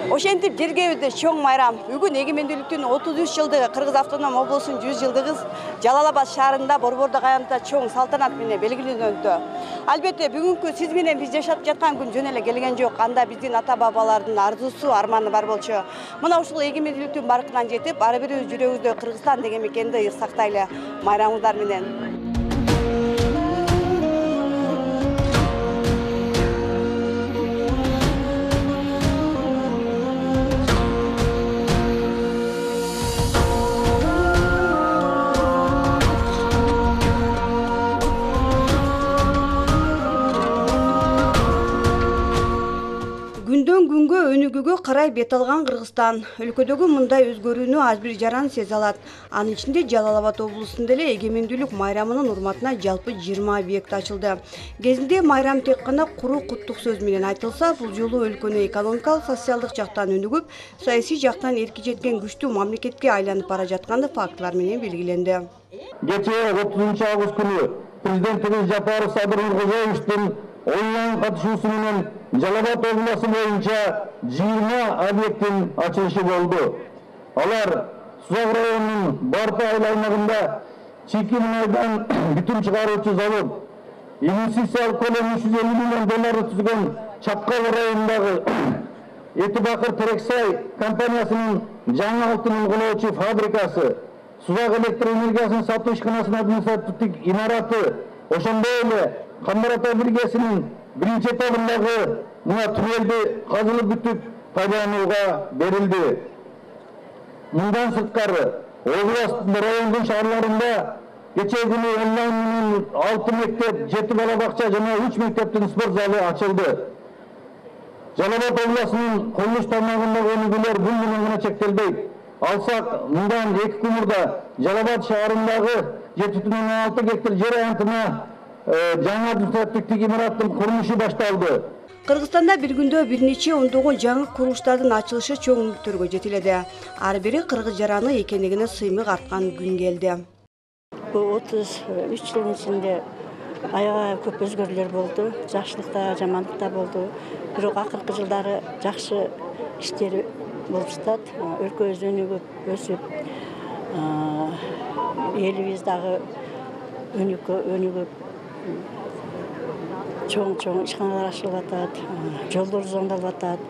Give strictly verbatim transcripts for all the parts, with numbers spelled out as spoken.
Ошентип жергебизде чоң майрам. Бүгүн эгемендүүлүктүн отуз үч жылдыгы, Кыргыз автоном облусунун жүз жылдыгы Жалал-Абад шаарында Борбордук аянтта чоң салтанат менен белгиленүүдө. Албетте, бүгүнкү сиз менен биз жашап жаткан күн жөн эле келген жок. Анда биздин ата-бабалардын арзусу, арманы бар болчу. Мына ушул эгемендүүлүктүн баркынан жетип, ар бирибиз жүрөгүбүздө Кыргызстан деген мекенди ыйык сактайлы. Майрамыңыздар менен. Күндөн күнгө өнүгүүгө карай бет алган Кыргызстан. Өлкөдөгү мындай өзгөрүүнү ар бир жаран сезе алат. Анын ичинде Жалал-Абад облусунда эле эгемендүүлүк майрамынын урматына жалпы жыйырма объект ачылды. Кезинде майрам тек гана куру куттук сөз менен айтылса, бул жолу өлкөнү экономикалык, социалдык жактан өнүгүп, саясий жактан эрки жеткен күчтүү мамлекетке айланып бара жатканы фактылар менен белгиленди. Кечээ отузунчу август күнү президентибиз Жапаров Садыр Нуркожоевичтин онлайн катышуусу менен Жалал-Абад обласу боюнча жыйырма объекттин ачылышы болду. Алар Сузак районунун Барты айыл аймагында чийки мунайдан бүтүн чыгаруучу завод, инвестициялык көлөмү үч жүз элүү миллион долларды түзгөн Чапкал районундагы Эти Бакыр Терексай компаниясынын жаңы алтын угулоочу фабрикасы, Сузак электр энергиясын сатуу ишканасынын административдик имараты, ошондой эле Камбар ата биргесинин биринчи этабындагы мына туннелди казылып бүтүп пайдаланууга берилди. Мындан сырткары областын райондун шаарларында кечээ күнү онлайн менен алты мектеп, жети бала бакча жана үч мектептин спорт залы ачылды. Жалал-Абад обласынын курулуш тармагындагы өнүгүүлөр бул менен гана чектелбейт. Алсак, мындан эки күн мурда Жалал-Абад шаарындагы жети бүтүн ондон алты гектар жер аянтына жаңы административдик имараттын курулушу башталды. Кыргызстанда бир күндө бир нече ондогон жаңы курулуштардын ачылышы чоң үмүттөргө жетеледи. Ар бири кыргыз жараны экендигине сыймык арткан күн келди. отуз үч жылдын ичинде аябай көп өзгөрүүлөр болду. Жакшылык да, жамандык да болду. Бирок акыркы жылдары жакшы иштер болуп жатат. Өлкөбүз өнүгүп, өсүп, элибиз дагы өнүгүп, чоң-чоң ишканалар ачылып атат, жолдор зондолуп атат,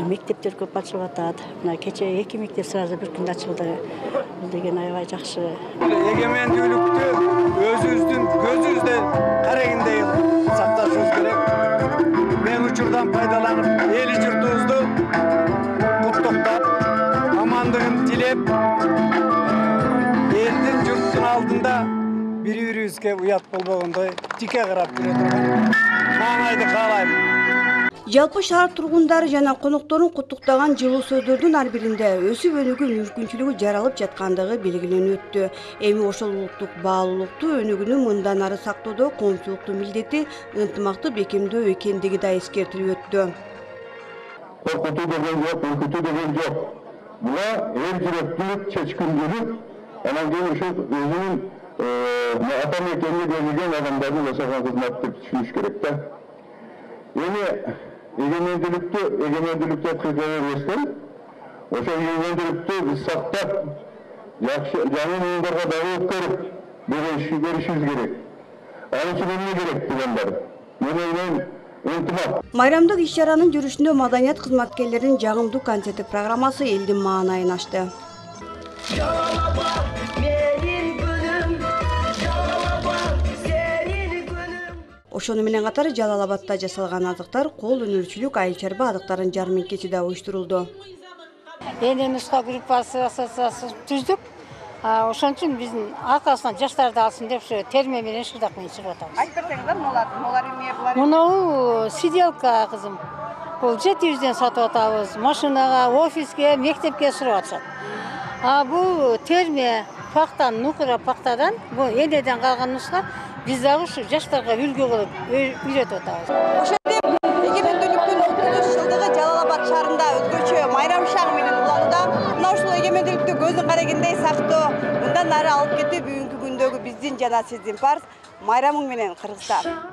мектептер көп ачылып атат. Мына кечээ эки мектеп сразу бир күндө ачылды. Бул деген аябай жакшы. Эгемендүүлүктү өзүбүздүн көзүбүздө карагандай сакташыбыз керек. Мен учурдан пайдаланып, эли журтубузду куттуктап, амандыгын тилеп, элдин журттун алдында бири-бирибизге уят болбогондой тике карап жүрө турган маанайды каалайм. Жалпы шаар тургундары жана конокторун куттуктаган жылуу сөздөрдүн ар биринде өсүп өнүгүү мүмкүнчүлүгү жаралып жаткандыгы белгиленип өттү. Эми ошол улуттук баалуулукту өнүгүүнү мындан ары сактоодо коомчулуктун милдети ынтымакты бекемдөө экендиги да эскертилип өттү. Коркутуу деген жок, үркүтүү деген жок. Буга эл жүрөктүү, чечкиндүүлүк, анан кийин ушул өзүнүн ата мекенге берилген адамдардын жашаган кызматы деп түшүнүш керек да. Эми эгемендүүлүктү, эгемендүүлүктү өткөрө бербестен, ошол эгемендүүлүктү биз сактап, жакшы жаңы муундарга дагы өткөрүп, беришибиз керек. Ал үчүн эмне керек дегендер? Мен ойлойм, ынтымак. Майрамдык иш-чаранын жүрүшүндө маданият кызматкерлеринин жагымдуу концерттик программасы элдин маанайын ачты. Ошону менен катар Жалал-Абадта жасалган азыктар, кол өнөрчүлүк, айыл чарба азыктарын жармеңкеси да уюштурулду. Эне нуска группасы ассоциациясы түздүк. Ошон үчүн биздин аркасынан жаштарды алсын деп ушу терме менен шырдак менен чыгып атабыз. Айтып берсеңиз, булар булар эмне булар? Мунау сиделка кызым. Бул жети жүздөн сатып атабыз. Машинага, офиске, мектепке сурап атышат. А бул терме пактан, нукура пактадан, бул энеден калган нуска биз дагы ушу жаштарга үлгү кылып үйрөтүп атабыз. Ошентип эгемендүүлүктүн отуз үч жылдыгы Жалал-Абад шаарында өзгөчө майрам шагы менен уланууда. Мына ушул эгемендүүлүктү көздүн карагендей сактоо, мындан ары алып кетүү бүгүнкү күндөгү биздин жана сиздин парыз. Майрамың менен Кыргызстан.